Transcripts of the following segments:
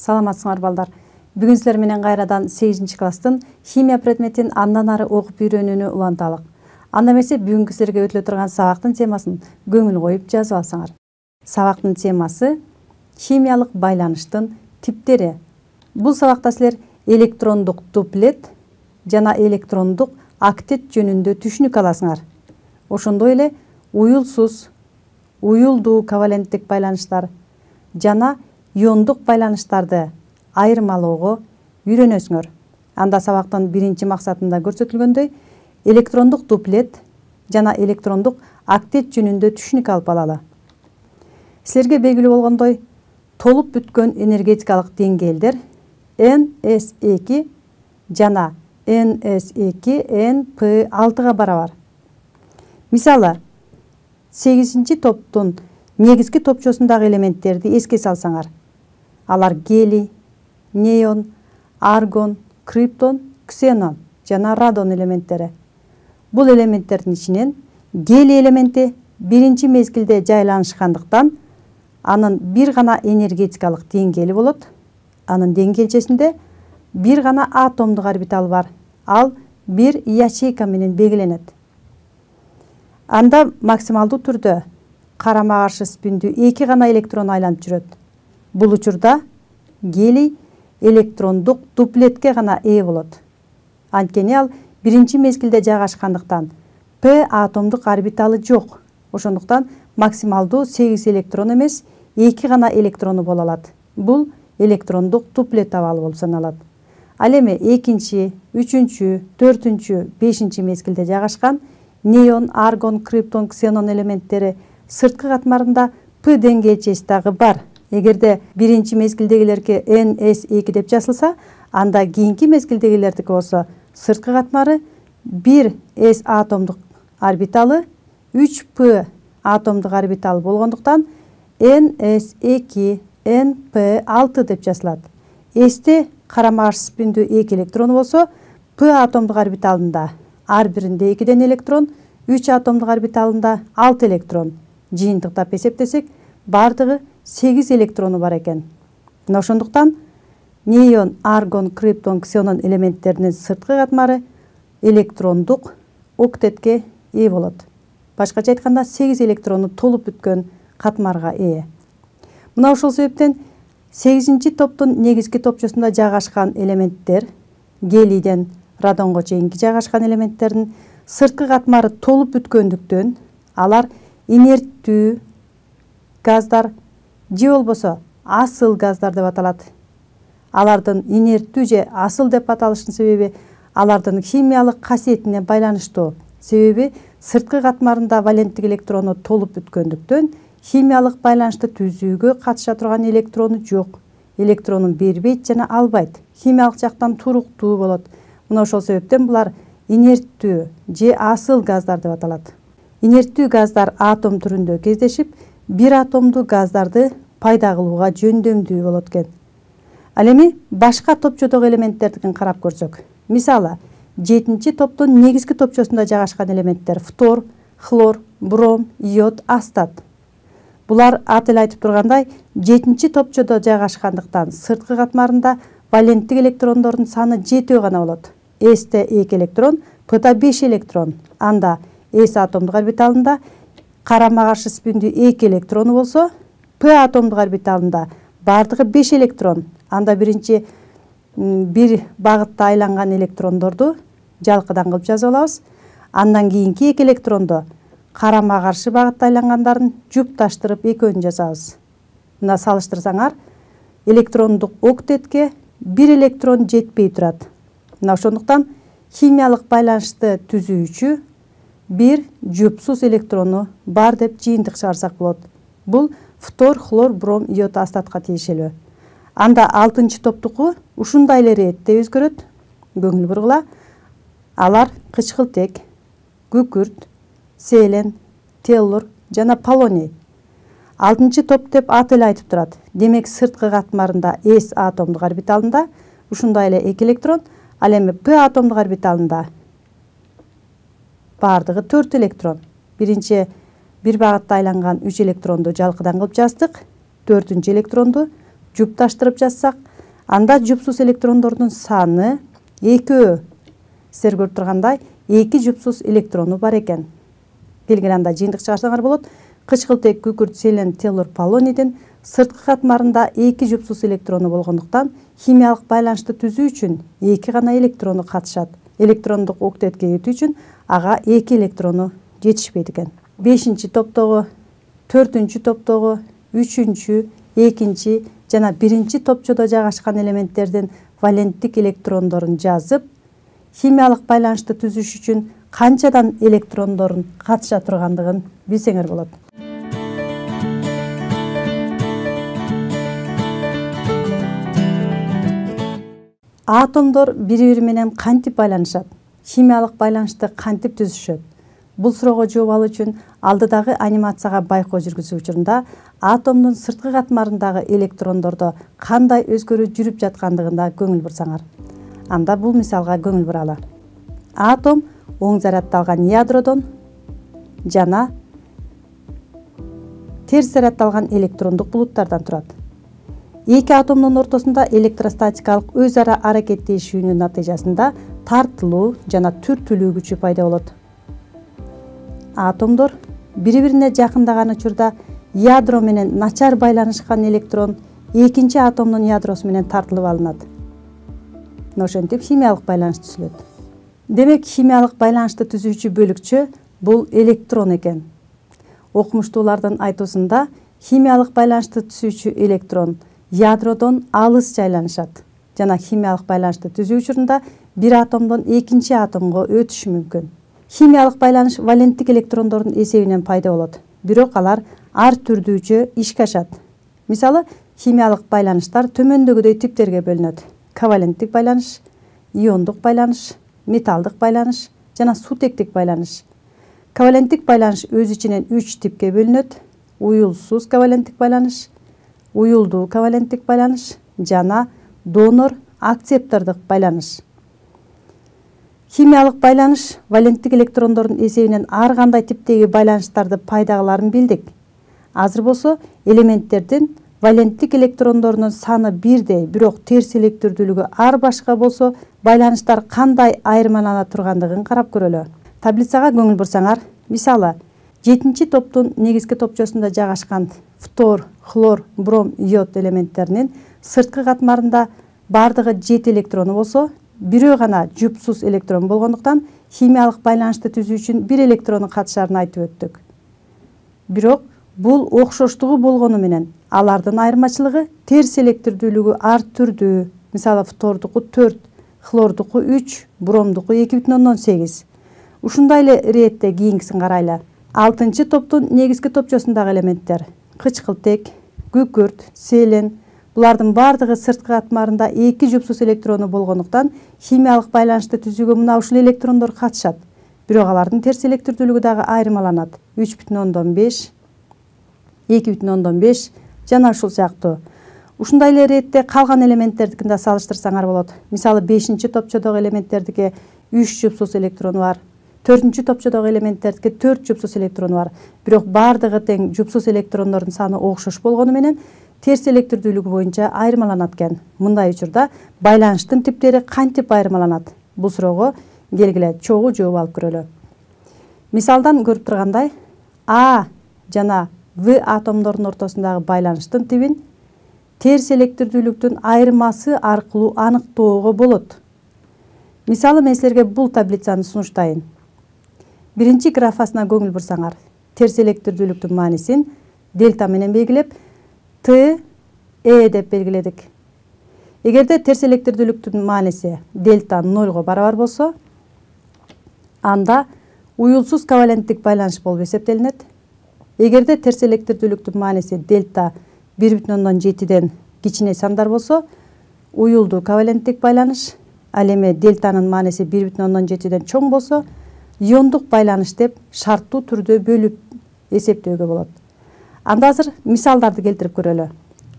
Саламатсыңар балдар. Бүгүн силер менен кайрадан 8-класстын химия предметин андан ары окуп үйрөнүүнү уланталык. Анда эмесе бүгүнкү силерге өтүлө турган сабактын темасын көңүл коюп жазып алсаңар. Сабактын темасы химиялык байланыштын типтери. Бул сабакта силер электрондук дуплет жана электрондук октет жөнүндө түшүнүк аласыңар. Ошондой эле уюлсуз, уюлдуу коваленттик байланыштар жана иондук байланыштарды айырмалоого үйрөнөсүңөр. Анда сабактын биринчи максатында көрсөтүлгөндөй электрондук дуплет жана электрондук октет жөнүндө түшүнүк алып алалы. Силерге белгилүү болгондой, толуп бүткөн энергетикалык деңгээлдер NS2 жана NS2 NP6 барабар. Мисалы, 8-ci топтун негизги топчосундагы элементтерди эске салсаңар. Алар гелий, неон, аргон, криптон, ксенон жана радон элементтери. Бул элементтердин ичинен гелий элементи биринчи мезгилде жайланышкандыктан анын бир гана энергетикалык деңгээли болот. Анын деңгээлчесинде бир гана атомдук орбиталы бар. Ал бир ячейка менен белгиленет. Анда максималдуу түрдө карама каршы спиндүү 2 гана электрон айланып жүрөт. Бул учурда гелий электрондук дуплетке гана ээ болот. Анткени ал биринчи мезгилде жайгашкандыктан P атомдук орбиталы жок. Ошондуктан максималдуу 8 электрон эмес, 2 гана электрону боло алат. Бул электрондук дуплет абалы болуп саналат. Ал эми 2-, 3-, 4-, 5-ci мезгилде жайгашкан неон, аргон, криптон, ксенон элементтери сырткы катмарында P деңгээлчеси дагы бар. Эгерде биринчи мезгилдегилерге NS2 деп жазылса, анда кийинки мезгилдегилердики болсо сырткы катмары 1s атомдук орбиталы, 3p атомдук орбиталы болгондуктан NS2 NP6 деп жазылат. Сте карама каршы спиндүү 2 электрону болсо, P атомдук орбиталында ар биринде 2 электрон, 3 атомдук орбиталында 6 электрон. Жыйынтыктап эсептесек, бардыгы 8 электрону бар экен. Мына ошондуктан неон, аргон, криптон, ксенон элементтеринин сырткы катмары электрондук октетке ээ болот. Башкача айтканда 8 электрону толуп бүткөн катмарга ээ. Мына ошол себептен 8-ci топтун негизги топчосунда жайгашкан элементтер, гелийден радонго чейинки жайгашкан элементтердин сырткы катмары толуп бүткөндүктөн алар инерттүү газдар же болбосо асыл газдар деп аталат. Алардын инерттүү же асыл деп аталышынын себеби алардын химиялык касиетине байланыштуу. Себеби сырткы катмарында валенттик электрону толуп бүткөндүктөн химиялык байланышты түзүүгө катыша турган электрону жок. Электронун бербейт жана албайт. Химиялык жактан туруктуу болот. Мына ошол себептен булар инерттүү же асыл газдар деп аталат. Инерттүү газдар атом түрүндө кездешип, бир атомдуу газдарды пайда кылууга жөндөмдүү болот экен. Ал эми башка топчодогу элементтердикин карап көрсөк. Мисалы, 7-ci топтун негизги топчосунда жайгашкан элементтер фтор, хлор, бром, йод, астат. Булар аты эле айтып тургандай 7-ci топчодо жайгашкандыктан сырткы катмарында валенттик электрондордун саны 7 гана болот. Сте 2 электрон, P'да 5 электрон. Анда S атомдук орбиталында карама каршы спиндүү 2 электрону болсо, P атомдук орбиталында бардыгы 5 электрон. Анда биринчи бир багытта айланган электрондорду жалкыдан кылып жазып алабыз. Андан кийинки 2 электронду карама каршы багытта айлангандарын жупташтырып экөөнү жазабыз. Мына салыштырсаңар, электрондук октетке 1 электрон жетпей турат. Мына ошондуктан химиялык байланышты түзүүчү бир жупсуз электрону бар деп жыйынтык чыгарсак болот. Бул фтор, хлор, бром, йод, астатка тиешелүү. Анда 6-cı топтуку ушундай эле иретте өзгөрөт. Көңүл бургула. Алар кычкылтек, күкүрт, селен, теллур жана полоний. 6-cı топ деп аты эле айтып турат. Демек сырткы катмарында S атомдук орбиталында ушундай эле 2 электрон, ал эми P атомдук орбиталында бардыгы 4 электрон. Биринчи бир багытта айланган 3 электронду жалкыдан кылып жаздык. 4-cü электронду жупташтырып жазсак, Анда жупсуз электрондордун саны 2. Силер көрүп тургандай 2 жупсуз электрону бар экен. Келгиле анда жыйынтык чыгарсаңар болот. Кычкылтек, күкүрт, селен, телур, полонийдин сырткы катмарында 2 жупсуз электрону болгондуктан химиялык байланышты түзүү үчүн 2 гана электрону катышат. Электрондук октетке өтүү үчүн ага 2 электрону жетишпейт экен. 5-чи топтогу, 4-чү топтогу, 3-чү, 2-чи жана 1-чи топчодо жайгашкан элементтердин валенттик электрондорун жазып, химиялык байланышты түзүш үчүн канчадан электрондорун катыша тургандыгын билсеңер болот. Атомдор бири-бири менен кантип байланышат? Химиялык байланышты кантип түзүшөт? Бул суроого жооп алуу үчүн алдыдагы анимацияга байкоо жүргүзүү учурунда атомдун сырткы катмарындагы электрондордо кандай өзгөрүү жүрүп жаткандыгына көңүл бурсаңар. Анда бул мисалга көңүл буралы. Атом оң заряддалган ядродон жана терс заряддалган электрондук булуттардан турат. Эки атомдун ортосунда электростатикалык өз ара аракеттешүүнүн натыйжасында тартылуу жана түртүлүү күчү пайда болот. Атомдор бири-бирине жакындаган учурда ядро менен начар байланышкан электрон экинчи атомдун ядросу менен тартылып алынат. Ошентип химиялык байланыш түзүлөт. Демек, химиялык байланышты түзүүчү бөлүкчө бул электрон экен. Окумуштуулардын айтуусунда химиялык байланышты түзүүчү электрон ядродон алыс жайланышат жана химиялык байланышты түзүү учурунда бир атомдон экинчи атомго өтүшү мүмкүн. Химиялык байланыш валенттик электрондордун эсебинен пайда болот, бирок алар ар түрдүүчө ишке ашат. Мисалы, химиялык байланыштар төмөндөгүдөй типтерге бөлүнөт: коваленттик байланыш, иондук байланыш, металдык байланыш жана сутектик байланыш. Коваленттик байланыш өз ичинен 3 типке бөлүнөт: уюлсуз коваленттик байланыш, уюлдуу коваленттик байланыш жана донор акцептордук байланыш. Химиялык байланыш валенттик электрондордун эсебинен ар кандай типтеги байланыштарды пайда кыларын билдик. Азыр болсо элементтердин валенттик электрондорунун саны бирдей, бирок терс электирдүүлүгү ар башка болсо байланыштар кандай айырмалана тургандыгын карап көрөлү. Таблицага көңүл бурсаңар, мисалы, 7-чи топтун негизги топчосунда жайгашкан фтор, хлор, бром, йод элементтеринин сырткы катмарында бардыгы 7 электрону болсо, бирөө гана жупсуз электрон болгондуктан химиялык байланышты түзүү үчүн 1 электрону катышарын айтып өттүк. Бирок бул окшоштугу болгону менен алардын айырмачылыгы терс электирдүүлүгү ар түрдүү. Мисалы, фтордуку 4, хлордуку 3, бромдуку 2,8. Ушундай эле иретте кийинкисин карайлы. 6-чы топтун негизги топчосундагы элементтер: кычкылтек, күкүрт, селен. Булардын бардыгы сырткы катмарында 2 жупсуз электрону болгондуктан химиялык байланышты түзүүгө мына ушул электрондор катышат. Бирок алардын терс электирдүүлүгү дагы айырмаланат: 3,5, 2,5 жана ушул сыяктуу. Ушундай эле иретте калган элементтердикин да салыштырсаңар болот. Мисалы, 5-чи топчодогу элементтердики 3 жупсуз электрону бар. 4-чү топчодогу элементтердики 4 жупсуз электрону бар. Бирок бардыгы тең жупсуз электрондордун саны окшош болгону менен терс электирдүүлүгү боюнча айырмаланат экен. Мындай учурда байланыштын типтери кантип айырмаланат? Бул суроого келгиле чогуу жооп алып көрөлү. Мисалдан көрүп тургандай, А жана В атомдордун ортосундагы байланыштын тибин терс электирдүүлүктүн айырмасы аркылуу аныктоого болот. Мисалы, мен силерге бул таблицаны сунуштайын. Биринчи графасына көңүл бурсаңар, терс электирдүүлүктүн маанисин дельта менен белгилеп, Т, Э деп белгиледик. Эгерде терс электирдүүлүктүн мааниси дельта 0 барабар болсо, анда уюлсуз коваленттик байланыш болуп эсептелинет. Эгерде терс электирдүүлүктүн мааниси дельта 1,7ден кичине сандар болсо, уюлдуу коваленттик байланыш. Ал эми дельтанын мааниси 1,7ден чоң болсо, иондук байланыш деп шарттуу түрдө бөлүп эсептөөгө болот. Анда азыр мисалдарды келтирип көрөлү.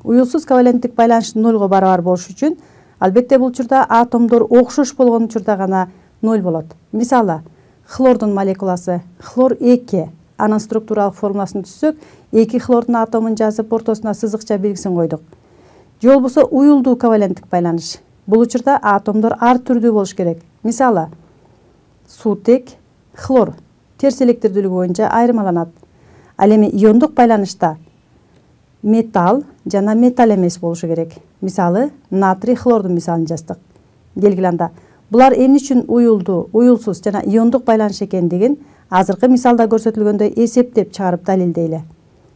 Уюлсуз коваленттик байланыш 0 барабар болуш үчүн албетте бул учурда атомдор окшош болгон учурда гана 0 болот. Мисалы, хлордун молекуласы хлор 2, анын структуралык формуласын түзсөк, 2 хлордун атомун жазып ортосуна сызыкча белгисин койдук. же болбосо уюлдуу коваленттик байланыш. Бул учурда атомдор ар түрдүү болуш керек. Мисалы, суутек, хлор терс электирдүүлүгү боюнча айырмаланат. Ал эми иондук байланышта металл жана металл эмес болушу керек. Мисалы, натрий хлордун мисалын жаздык. Келгиле анда. Булар эмне үчүн уюлдуу, уюлсуз жана иондук байланыш экендигин азыркы мисалда көрсөтүлгөндөй эсептеп чыгарып далилдейле.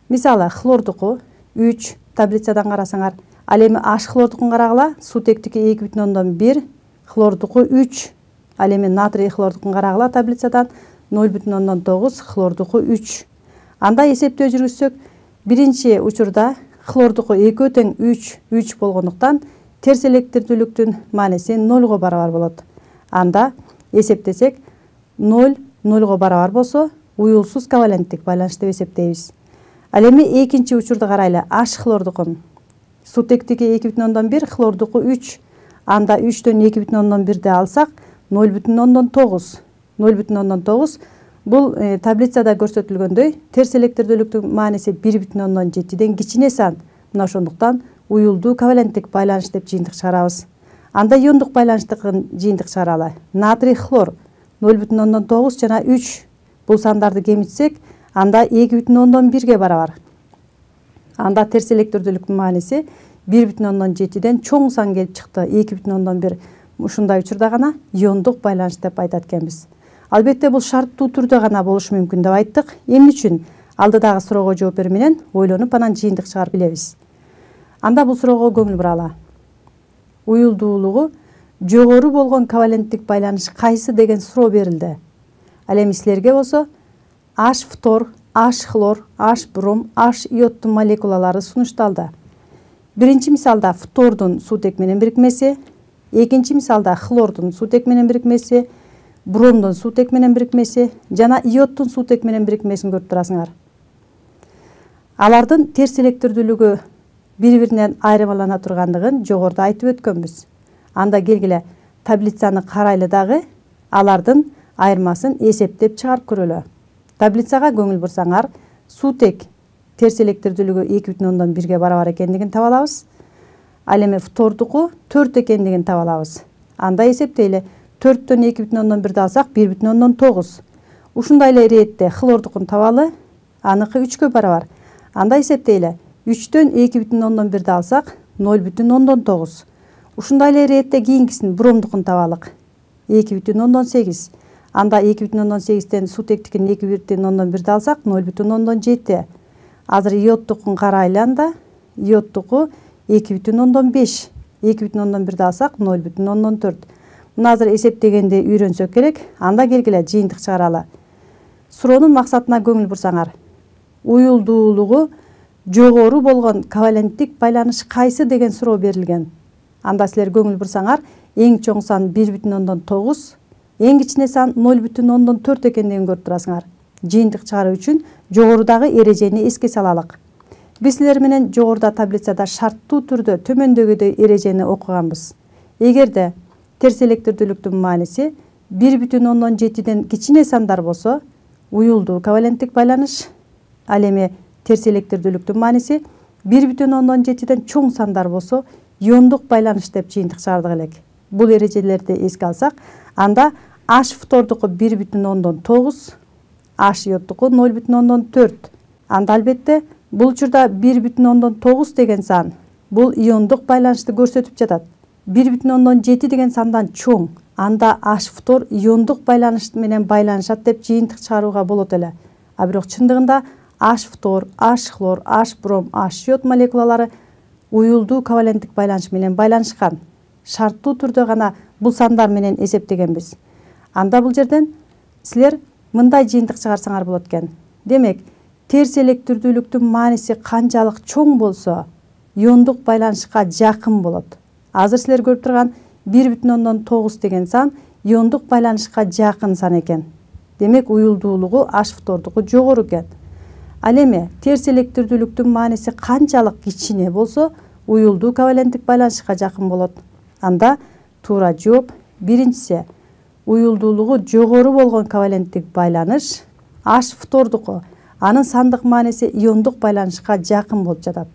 Мисалы, хлордуку 3 таблицадан карасаңар, ал эми H хлордукун карагыла, суутектики 2,1, хлордуку 3, ал эми натрий хлордукун карагыла таблицадан 0,9, хлордуку 3. Анда эсептөө жүргүзсөк, биринчи учурда хлордуку 2 тең 3 болгондуктан терс электирдүүлүктүн мааниси 0 барабар болот. Анда эсептесек 0 0 барабар болсо уюлсуз коваленттик байланыш деп эсептейбиз. Ал эми экинчи учурду карайлы. H хлордукун суутектики 2,1, хлордуку 3. Анда 3төн 2,1ди алсак 0,9. 0,9 бул таблицада көрсөтүлгөндөй терс электирдүүлүктүн мааниси 1,7ден кичине сан. Мына ошондуктан уюлдуу коваленттик байланыш деп жыйынтык чыгарабыз. Анда иондук байланыштыкын жыйынтык чыгаралы. Натрий хлор 0,9 жана 3. Бул сандарды кемитсек, анда 2,1ге барабар. Анда терс электирдүүлүктүн мааниси 1,7ден чоң сан келип чыкты. 2,1. Ушундай учурда гана иондук байланыш деп айтат экенбиз. Албетте бул шарттуу түрдө гана болушу мүмкүн деп айттык. Эмне үчүн? Алдыдагы суроого жооп берүү менен ойлонуп анан жыйынтык чыгарып билебиз. Анда бул суроого көңүл буралы. Уюлдуулугу жогору болгон коваленттик байланыш кайсы деген суроо берилди. Ал эми силерге болсо H фтор, H хлор, H бром, H иодтун молекулалары сунушталды. Биринчи мисалда фтордун суутек менен бирикмеси, экинчи мисалда хлордун суутек менен бирикмеси, бромдун суутек менен бирикмеси жана иодтун суутек менен бирикмесин көрүп турасыңар. Алардын терс электирдүүлүгү бири-биринен айырмалана тургандыгын жогоруда айтып өткөнбүз. Анда келгиле таблицаны карайлы дагы алардын айырмасын эсептеп чыгарып көрөлү. Таблицага көңүл бурсаңар, суутек терс электирдүүлүгү 2,1ге барабар экендигин таба алабыз. Ал эми фтордуку 4 экендигин таба алабыз. Анда эсептейли. 4төн 2,1ди алсак 1,9. Ушундай эле иретте хлордукун табалы, аныкы 3кө барабар. Анда эсептейли. 3төн 2,1ди алсак 0,9. Ушундай эле иретте кийинкисин бромдукун табалык. 2,8. Анда 2,8тен суутектикин 2,1ди алсак 0,7. Азыр иодтукун карайлы анда. Иодтуку 2,5. 2,1ди алсак 0,4. Мына азыр эсептегенди үйрөнсөк керек. Анда келгиле жыйынтык чыгаралы. Суроонун максатына көңүл бурсаңар. Уюлдуулугу жогору болгон коваленттик байланыш кайсы деген суроо берилген. Анда силер көңүл бурсаңар, эң чоң сан 1,9, эң кичине сан 0,4 экендигин көрүп турасыңар. Жыйынтык чыгаруу үчүн жогорудагы эрежени эске салалык. Биз силер менен жогоруда таблицада шарттуу түрдө төмөндөгүдөй эрежени окуганбыз. Эгерде терс электирдүүлүктүн мааниси 1,7ден кичине сандар болсо, уюлдуу коваленттик байланыш. Ал эми терс электирдүүлүктүн мааниси 1,7ден чоң сандар болсо, иондук байланыш деп жыйынтык чыгардык элек. Бул эрежелерди эске алсак, анда H фтордуку 1,9, H иодтуку 0,4. Анда албетте бул учурда 1,9 деген сан бул иондук байланышты көрсөтүп жатат. 1,7 деген сандан чоң. Анда H фтор иондук байланыш менен байланышат деп жыйынтык чыгарууга болот эле. А бирок чындыгында H фтор, H хлор, H бром, H иод молекулалары уюлдуу коваленттик байланыш менен байланышкан. Шарттуу түрдө гана бул сандар менен эсептегенбиз. Анда бул жерден силер мындай жыйынтык чыгарсаңар болот экен. Демек, терс электирдүүлүктүн мааниси канчалык чоң болсо, иондук байланышка жакын болот. Азыр силер көрүп турган 1,9 деген сан иондук байланышка жакын сан экен. Демек, уюлдуулугу H фтордуку жогору экен. Ал эми терс электирдүүлүктүн мааниси канчалык кичине болсо, уюлдуу коваленттик байланышка жакын болот. Анда туура жооп биринчиси. Уюлдуулугу жогору болгон коваленттик байланыш H фтордуку. Анын сандык мааниси иондук байланышка жакын болуп жатат.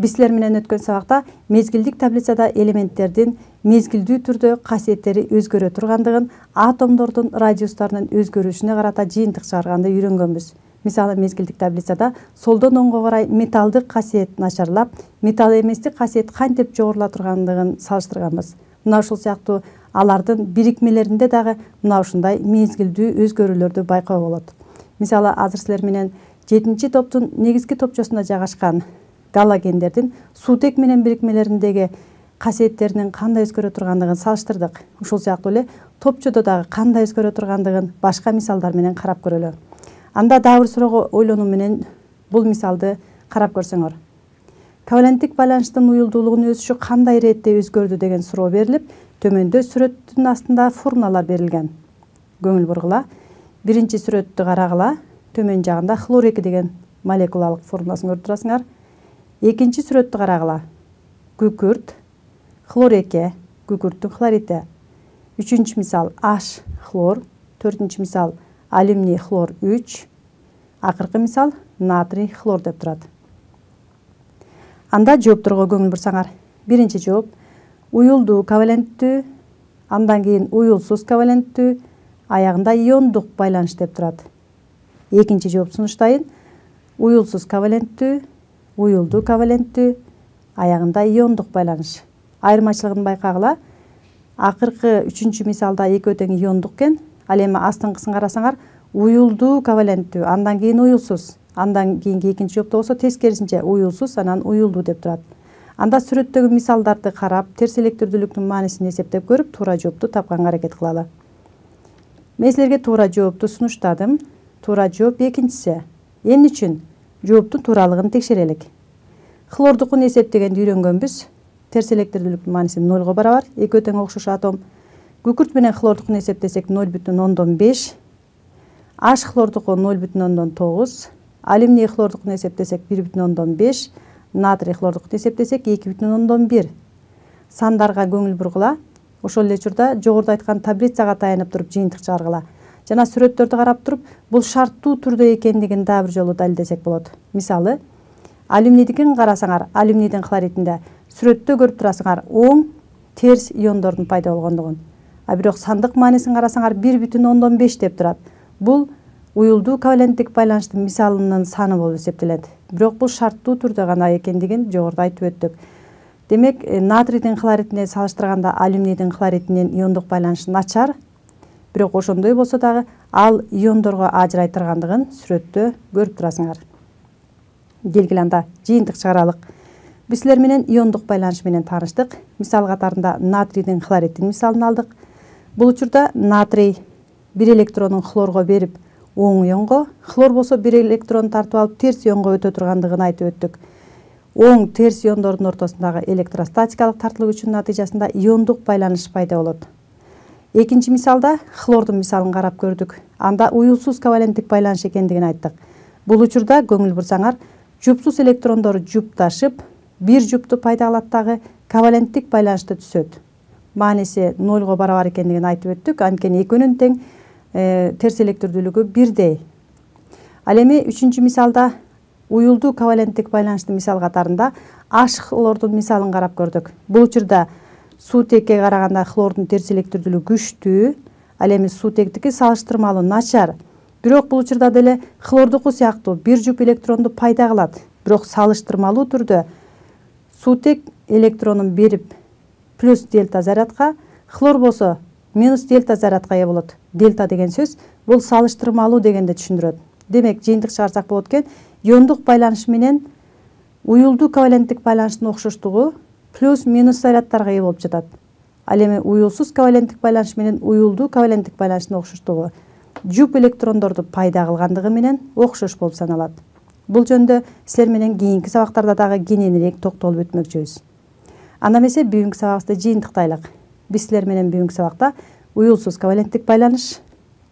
Биз силер менен өткөн сабакта мезгилдик таблицада элементтердин мезгилдүү түрдө касиеттери өзгөрө тургандыгын, атомдордун радиустарынын өзгөрүшүнө карата жыйынтык чыгарганды үйрөнгөнбүз. Мисалы, мезгилдик таблицада солдон оңго карай металдык касиет начарлап, металл эместик касиет кантип жогорула тургандыгын салыштырганбыз. Мына ушул сыяктуу алардын бирикмелеринде дагы мына ушундай мезгилдүү өзгөрүүлөрдү байкоого болот. Мисалы, азыр силер менен 7 топтун негизги топчосунда жайгашкан галогендердин суутек менен бирикмелериндеги касиеттеринин кандай өзгөрө тургандыгын салыштырдык. Ушул сыяктуу эле топчодо дагы кандай өзгөрө тургандыгын башка мисалдар менен карап көрөлү. Анда дагы бир суроого ойлонуу менен бул мисалды карап көрсөңөр. Коваленттик байланыштын уюлдуулугунун өсүшү кандай иретте өзгөрдү деген суроо берилип, төмөндө сүрөттүн астында формулалар берилген. Көңүл бургула. Биринчи сүрөттү карагыла. Төмөн жагында хлор 2 деген молекулалык формуласын көрүп турасыңар. Экинчи сүрөттү карагыла. Күкүрт, хлор 2, күкүрттүн хлорити. Үчүнчү мисал H хлор, төртүнчү мисал алюминий хлор 3, акыркы мисал натрий хлор деп турат. Анда жоопторго көңүл бурсаңар. Биринчи жооп уюлдуу коваленттүү, андан кийин уюлсуз коваленттүү, аягында иондук байланыш деп турат. Экинчи жооп сунуштайын. Уюлсуз коваленттүү, уюлдуу коваленттүү, аягында иондук байланыш. Айырмачылыгын байкагыла. Акыркы үчүнчү мисалда экөө тең иондук экен. Ал эми астыңкысын карасаңар, уюлдуу коваленттүү, андан кийин уюлсуз, андан кийинки экинчи жоопто болсо тескерисинче уюлсуз, анан уюлдуу деп турат. Анда сүрөттөгү мисалдарды карап, терс электирдүүлүктүн маанисин эсептеп көрүп, туура жоопту тапканга аракет кылалы. Мен силерге туура жоопту сунуштадым. Туура жооп экинчиси. Эмне үчүн? Жооптун тууралыгын текшерелик. Хлордукун эсептегенди үйрөнгөнбүз. Терс электирдүүлүктүн мааниси 0 барабар, экөө тең окшош атом. Күкүрт менен хлордукун эсептесек 0,5. H хлордуку 0,9. Алюминий хлордукун эсептесек 1,5. Натрий хлордукун эсептесек 2,1. Сандарга көңүл бургула. Ошол эле учурда жогоруда айткан таблицага таянып туруп жыйынтык чыгаргыла. Жана сүрөттөрдү карап туруп, бул шарттуу түрдө экендигин дагы бир жолу далилдесек болот. Мисалы, алюминийдикин карасаңар, алюминийдин хлоридинде сүрөттө көрүп турасыңар оң терс иондордун пайда болгондугун. А бирок сандык маанисин карасаңар 1,5 деп турат. Бул уюлдуу коваленттик байланыштын мисалынын саны болуп эсептелет. Бирок бул шарттуу түрдө гана экендигин жогоруда айтып өттүк. Демек, натрийдин хлоридине салыштырганда алюминийдин хлоридинин иондук байланышы начар. Бирок ошондой болсо дагы ал иондорго ажырай тургандыгын сүрөттө көрүп турасыңар. Келгиле анда жыйынтык чыгаралык. Биз силер менен иондук байланыш менен тааныштык. Мисал катарында натрийдин хлоридин мисалын алдык. Бул учурда натрий 1 электронун хлорго берип оң ионго, хлор болсо 1 электрон тартып алып терс ионго өтө тургандыгын айтып өттүк. Оң терс иондордун ортосундагы электростатикалык тартылуу күчүнүн натыйжасында иондук байланыш пайда болот. Экинчи мисалда хлордун мисалын карап көрдүк. Анда уюлсуз коваленттик байланыш экендигин айттык. Бул учурда көңүл бурсаңар, жупсуз электрондор жупташып, бир жупту пайда кылат дагы коваленттик байланышты түзөт. Мааниси 0 барабар экендигин айтып өттүк. Анткени экөөнүн тең терс электирдүүлүгү бирдей. Ал эми үчүнчү мисалда уюлдуу коваленттик байланыштын мисал катарында H хлордун мисалын карап көрдүк. Бул учурда суутекке караганда хлордун терс электирдүүлүгү күчтүү, ал эми суутектики салыштырмалуу начар. Бирок бул учурда деле хлордуку сыяктуу бир жуп электронду пайда кылат. Бирок салыштырмалуу түрдө суутек электронун берип плюс дельта зарядка, хлор болсо минус дельта зарядка ээ болот. Дельта деген сөз бул салыштырмалуу дегенди түшүндүрөт. Демек, жыйынтык чыгарсак болот экен, иондук байланыш менен уюлдуу коваленттик байланыштын окшоштугу плюс минус зарядтарга ээ болуп жатат. Ал эми уюлсуз коваленттик байланыш менен уюлдуу коваленттик байланыштын окшоштугу жуп электрондорду пайда кылгандыгы менен окшош болуп саналат. Бул жөнүндө силер менен кийинки сабактарда дагы кененирээк токтолуп өтмөкчүбүз. Анда эмесе бүгүнкү сабагыбызды жыйынтыктайлык. Биз силер менен бүгүнкү сабакта уюлсуз коваленттик байланыш,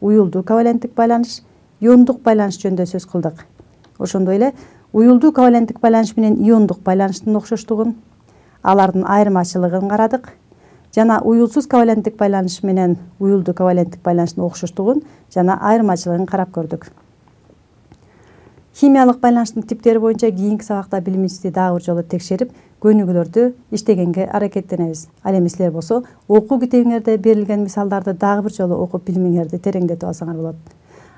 уюлдуу коваленттик байланыш, иондук байланыш жөнүндө сөз кылдык. Ошондой эле уюлдуу коваленттик байланыш менен иондук байланыштын окшоштугун, алардын айырмачылыгын карадык. Жана уюлсуз коваленттик байланыш менен уюлдуу коваленттик байланыштын окшоштугун жана айырмачылыгын карап көрдүк. Химиялык байланыштын типтери боюнча кийинки сабакта билимибизди дагы бир жолу текшерип, көнүгүүлөрдү иштегенге аракеттенебиз. Ал эми силер болсо окуу китебиңерде берилген мисалдарды дагы бир жолу окуп билимиңерди тереңдетип алсаңар болот.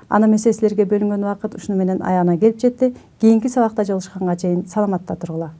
Аны эмесе силерге бөлүнгөн убакыт ушуну менен аягына келип жетти. Кийинки сабакта жолугушканга чейин саламатта тургула.